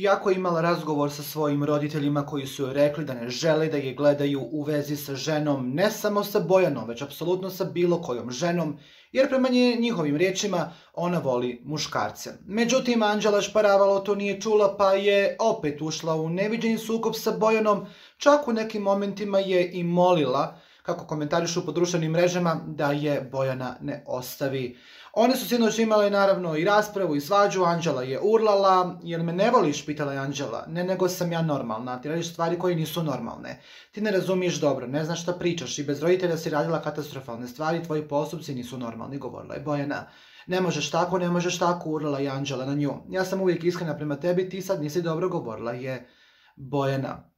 Iako je imala razgovor sa svojim roditeljima koji su joj rekli da ne žele da je gledaju u vezi sa ženom, ne samo sa Bojanom, već apsolutno sa bilo kojom ženom, jer prema njihovim riječima ona voli muškarce. Međutim, Anđela Šparavalo to nije čula pa je opet ušla u neviđeni sukob sa Bojanom, čak u nekim momentima je i molila, kako komentarišu po društvenim mrežama, da je Bojana ne ostavi. One su sinoć imale naravno i raspravu i svađu, Anđela je urlala, jer me ne voliš, pitala je Anđela. Ne, nego sam ja normalna, ti radiš stvari koje nisu normalne. Ti ne razumiješ dobro, ne znaš šta pričaš i bez roditelja si radila katastrofalne stvari, tvoji postupci nisu normalni, govorila je Bojana. Ne možeš tako, urlala je Anđela na nju. Ja sam uvijek iskrena prema tebi, ti sad nisi dobro, govorila je Bojana.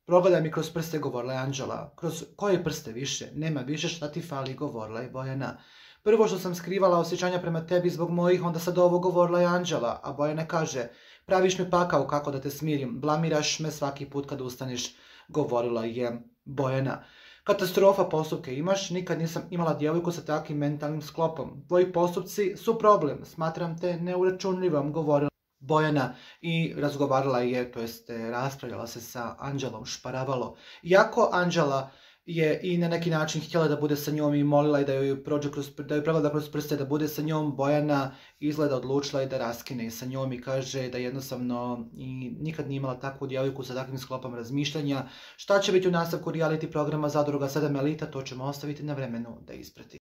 Progledaj mi kroz prste, govorila je Anđela. Kroz koje prste više? Nema više, šta ti fali, govorila je Bojana. Prvo što sam skrivala osjećanja prema tebi zbog mojih, onda sad ovo, govorila je Anđela. A Bojana kaže, praviš mi pakao kako da te smirim, blamiraš me svaki put kad ustaneš, govorila je Bojana. Katastrofa postupke imaš, nikad nisam imala djevojku sa takvim mentalnim sklopom. Tvoji postupci su problem, smatram te neuračunljivom, govorila Bojana i razgovarala je, to jest raspravljala se sa Anđelom Šparavalo. Iako Anđela je i na neki način htjela da bude sa njom i molila i da joj pregleda kroz prste da bude sa njom, Bojana izgleda odlučila i da raskine sa njom i kaže da jednostavno i nikad nije imala takvu djevojku sa takvim sklopom razmišljanja. Šta će biti u nastavku reality programa Zadruga 7 Elita, to ćemo ostaviti na vremenu da isprati.